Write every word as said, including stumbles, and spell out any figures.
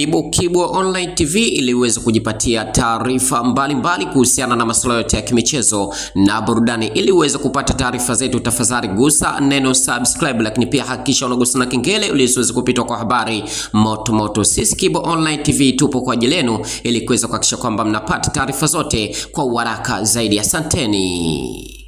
Karibu Kibwa Online T V ili uweze kujipatia taarifa mbalimbali kuhusiana na masuala yote ya kimichezo na burudani. Ili uweze kupata taarifa zetu, tafadhali gusa neno subscribe, lakini pia hakikisha unagusa na kengele ili usiweze kupitwa kwa habari moto moto. Sisi Kibwa Online T V tupo kwa ajili yenu ili kuweza kuhakikisha kwamba mnapata taarifa zote kwa uharaka zaidi. Asanteni.